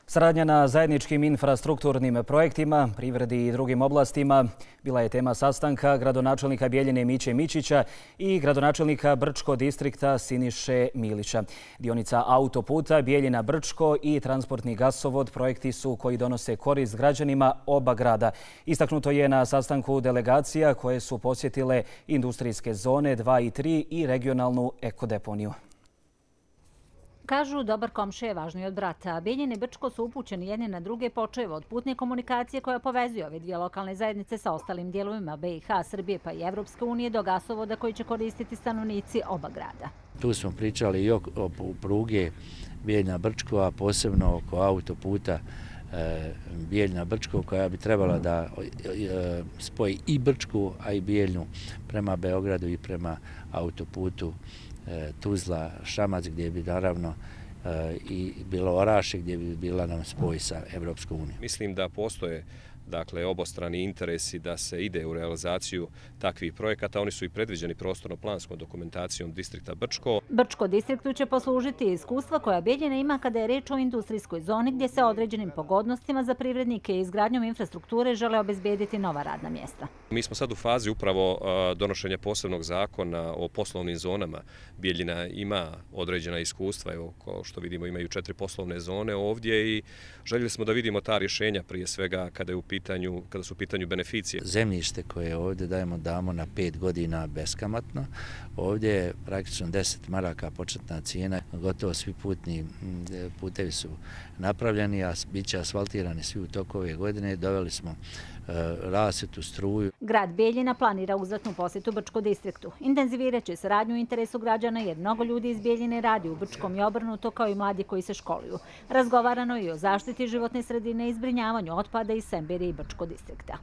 Saradnja na zajedničkim infrastrukturnim projektima, privredi i drugim oblastima bila je tema sastanka gradonačelnika Bjeljine Miće Mićića i gradonačelnika Brčko distrikta Siniše Milića. Dionica autoputa Bjeljina-Brčko i transportni gasovod projekti su koji donose korist građanima oba grada. Istaknuto je na sastanku delegacija koje su posjetile industrijske zone 2 i 3 i regionalnu ekodeponiju. Kažu, dobar komšija je važniji od brata. Bjeljina i Brčko su upućeni jedni na druge počev od putne komunikacije koja povezuje ove dvije lokalne zajednice sa ostalim dijelovima BiH, Srbije pa i Evropske unije do gasovoda koji će koristiti stanovnici oba grada. Tu smo pričali i o pruge Bjeljina-Brčko, a posebno oko autoputa Bjeljina-Brčko koja bi trebala da spoji i Brčku, a i Bjeljnu prema Beogradu i prema autoputu Tuzla-Šamac, gdje bi naravno i bilo Orašje, gdje bi bila nam spoj sa Evropskom unijom. Mislim da postoje obostrani interesi da se ide u realizaciju takvih projekata. Oni su i predviđeni prostorno-planskom dokumentacijom distrikta Brčko. Brčko distriktu će poslužiti iskustva koja Bjeljina ima kada je reč o industrijskoj zoni gdje se određenim pogodnostima za privrednike i izgradnjom infrastrukture žele obezbediti nova radna mjesta. Mi smo sad u fazi upravo donošenja posebnog zakona o poslovnim zonama. Bjeljina ima određena iskustva, evo, kao što vidimo imaju 4 poslovne zone ovdje i željeli smo da vidimo ta rješenja prije svega kada su u pitanju beneficije. Zemljište koje ovdje damo na 5 godina beskamatno. Ovdje je praktično 10 maraka početna cijena. Gotovo svi putevi su napravljeni, a bit će asfaltirani svi u toku ove godine. Doveli smo rasvjetu, struju. Grad Bjeljina planira uzvratnu posjetu Brčko distriktu. Intenzivirat će saradnju u interesu građana jer mnogo ljudi iz Bjeljine radi u Brčkom i obrnuto kao i mladi koji se školuju. Razgovarano je i o zaštiti životne sredine i zbrinjavanju otpada iz Semberije i Brčko distrikta.